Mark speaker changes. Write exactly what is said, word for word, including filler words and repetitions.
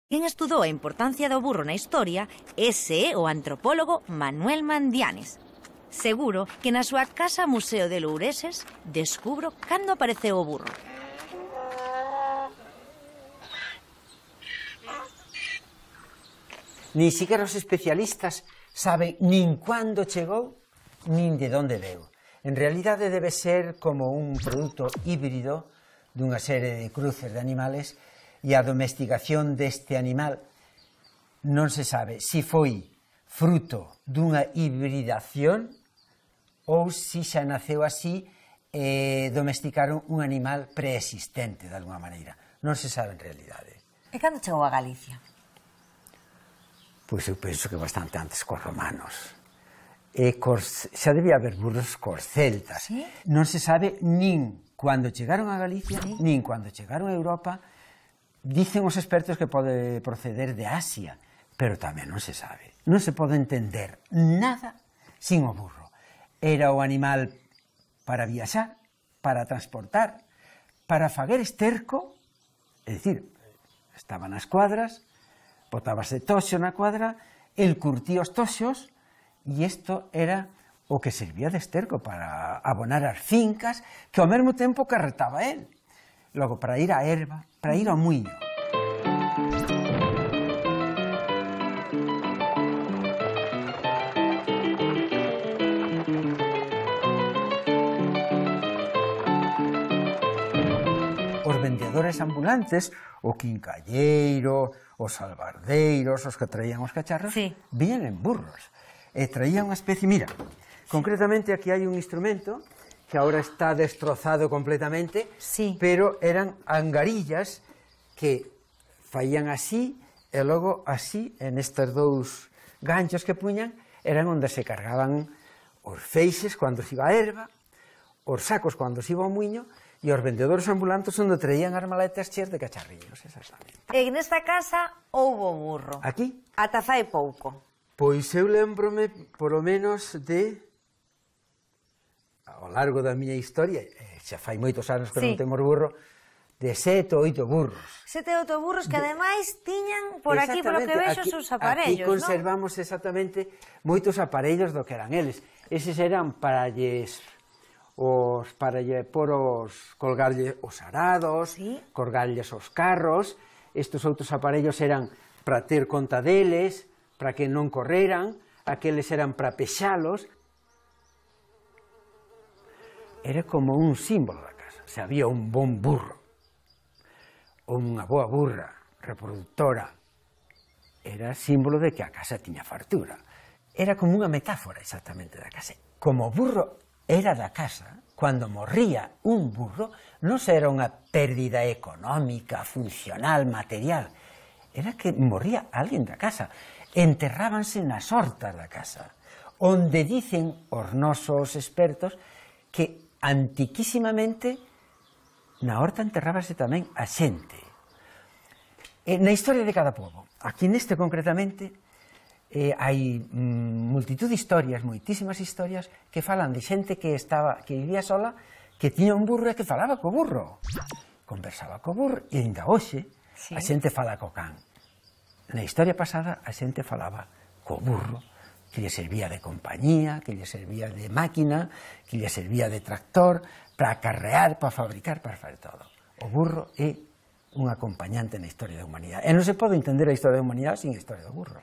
Speaker 1: Quen estudou a importancia do burro na historia, ese é o antropólogo Manuel Mandianes. Seguro que na súa casa Museo de Loureses descubro cando apareceu o burro.
Speaker 2: Nin siquiera os especialistas saben nin cuándo chegou, nin de onde veu. En realidade debe ser como un produto híbrido dunha serie de cruces de animales, e a domesticación deste animal non se sabe se foi fruto dunha hibridación ou se xa naceu así e domesticaron un animal preexistente de alguna maneira. Non se sabe en realidade.
Speaker 1: E cando chegou a Galicia?
Speaker 2: Pois eu penso que bastante antes cos romanos. E cos, xa debía haber burros cos celtas.
Speaker 1: ¿Sí?
Speaker 2: Non se sabe nin cando chegaron a Galicia, ¿sí? Nin cando chegaron a Europa. Dicen os expertos que pode proceder de Asia, pero tamén non se sabe. Non se pode entender nada sin o burro. Era o animal para viaxar, para transportar, para faguer esterco, é dicir, estaba nas cuadras, botábase toxo na cuadra, el curtía os toxos, e isto era o que servía de esterco para abonar as fincas, que ao mesmo tempo carretaba el. Logo, para ir á erva, para ir ao muiño. Os vendedores ambulantes, o quincalleiro, os albardeiros, os que traían os cacharros,
Speaker 1: sí,
Speaker 2: vían en burros. E traían unha especie, mira, concretamente aquí hai un instrumento que ahora está destrozado completamente,
Speaker 1: sí,
Speaker 2: pero eran angarillas que faían así, e logo así, en estes dous ganchos que puñan, eran onde se cargaban os feixes cando se iba a erva, os sacos cando se iba ao muiño, e os vendedores ambulantes onde traían as maletas cheas de cacharrillos, exactamente.
Speaker 1: E nesta casa houbo burro?
Speaker 2: Aquí?
Speaker 1: Ata fai pouco.
Speaker 2: Pois eu lembrome, polo menos, de... ao largo da miña historia, xa fai moitos anos que
Speaker 1: sí,
Speaker 2: non temos burro, de sete ou oito burros.
Speaker 1: Sete ou oito burros que, ademais, tiñan por aquí, polo que vexo, os seus aparellos,
Speaker 2: non? Aquí conservamos
Speaker 1: ¿no?
Speaker 2: exactamente moitos aparellos do que eran eles. Eses eran para lles... os para lle por os colgarlle os arados,
Speaker 1: ¿sí?,
Speaker 2: colgarlles os carros. Estes outros aparellos eran para ter conta deles, para que non correran, aqueles eran para pexalos. Era como un símbolo da casa. Se había un bon burro, ou unha boa burra reproductora, era símbolo de que a casa tiña fartura. Era como unha metáfora exactamente da casa. Como o burro era da casa, cando morría un burro, non era unha pérdida económica, funcional, material, era que morría alguén da casa. Enterrábanse nas hortas da casa, onde dicen os nosos expertos que antiquísimamente na horta enterrábase tamén a xente. E na historia de cada pobo, aquí neste concretamente, Eh, hai mm, multitud de historias, moitísimas historias, que falan de xente que estaba, que vivía sola, que tiña un burro e que falaba co burro. Conversaba co burro, e ainda hoxe, sí, a xente fala co can. Na historia pasada, a xente falaba co burro, que lle servía de compañía, que lle servía de máquina, que lle servía de tractor, para acarrear, para fabricar, para fazer todo. O burro é un acompañante na historia da humanidade. E non se pode entender a historia da humanidade sin a historia do burro.